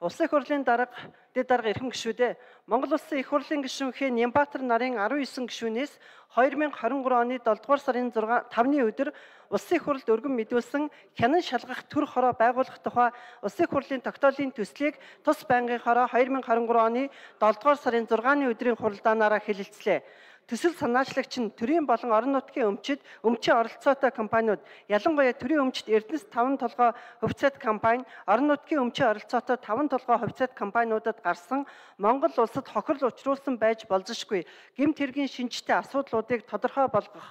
Улсын их хурлын дэд дарга эрхэм гишүүдээ Монгол Улсын их хурлын гишүүнхээ Нямбатар нарын 19 гишүүнээс 2023 оны 7 дугаар сарын 5-ны өдөр Улсын их хурлд өргөн мэдүүлсэн хянан шалгах төр хороо байгуулах тухай Улсын их хурлын тогтоолын төслийг тус байнгын хороо 2023 оны 7 дугаар сарын 6-ны өдрийн хуралдаанаараа хэлэлцлээ. Төсөл санаачлагч нь төрийн болон орон нутгийн өмчид өмчийн оролцоотой компаниуд, ялангуяа төрийн өмчид Эрдэнэс 5 толгой хувьцаат компани, орон нутгийн өмчийн оролцоотой 5 толгой хувьцаат компаниудад гарсан Монгол улсад хохирол учруулсан байж болзошгүй гэмт хэргийн шинжтэй асуудлуудыг тодорхой болгох,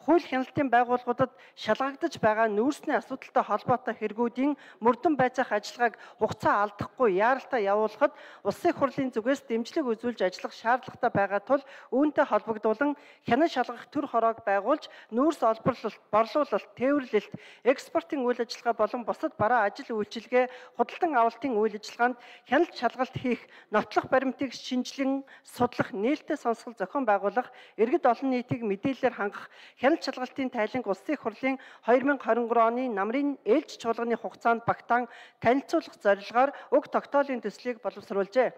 хууль хяналтын байгууллагуудад шалгагдаж байгаа нүүрсний асуудалтай холбоотой хэрэгүүдийн мөрдөн байцаах ажиллагааг хугацаа алдахгүй яаралтай явуулахад Улсын их хурлын зүгээс дэмжлэг үзүүлж ажиллах шаардлагатай байгаа тул үүнтэй холбогдуулан хянан шалгах төр хороог байгуулж нүүрс олборлолт, борлуулалт, тээвэрлэлт, экспортын үйл ажиллагаа болон бусад бараа ажил үйлчилгээ, худалдан авалтын үйл ажиллагаанд хяналт шалгалт хийх, нотлох баримтыг шинжилэн судлах, нээлттэй сонсгол зохион байгуулах, иргэд олон нийтийг мэдээлэлээр хангах, хяналт шалгалтын тайланг Улсын их хурлын 2023 оны намрын ээлж чуулганы хугацаанд багтаан танилцуулах зорилгоор уг тогтоолын төслийг боловсруулжээ.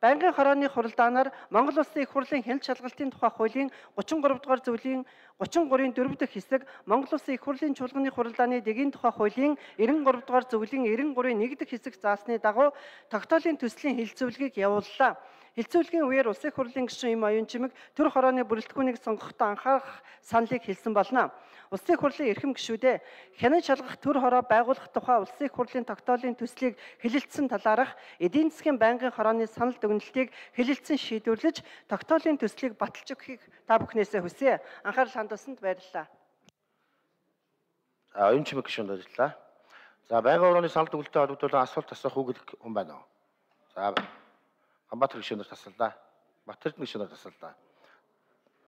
Байнгын хорооны хуралдаанаар Монгол Улсын их хурлын хяналт шалгалтын тухай хуулийн 33 дугаар зөвлийн 33-ын 4 дахь хэсэг, Монгол Улсын их хурлын чуулганы хуралдааны дэгийн тухай хуулийн 93 дугаар зөвлийн 93-ийн 1 дахь хэсэг заасны дагуу тогтоолын төслийн хэлэлцүүлгийг явууллаа. Хэлэлцүүлгийн үеэр Улсын их хурлын гишүүн Им Оюун Чимэг төр хорооны бүрэлдэхүүнийг сонгохдоо анхаарах саналыг хэлсэн болно. Улсын их хурлын эрхэм гишүүдээ хянан шалгах төр хороо байгуулах тухай Улсын их хурлын тогтоолын төслийг хэлэлцсэн талаарх эдийн засгийн байнгын хорооны санал дүгнэлтийг хэлэлцэн шийдвэрлэж тогтоолын төслийг баталж өгөхийг та бүхнээсээ хүсье. Анхаарал хандуулсанд баярлалаа. За, Оюун Чимэг гишүүнд баярлалаа. За, байнгын хорооны санал дүгнэлттэй холбогдуулан асуулт асуух үг хүн байна уу? За, Хамбатар гишүүнээр тасаллаа. Батэрдэн гишүүнээр тасаллаа.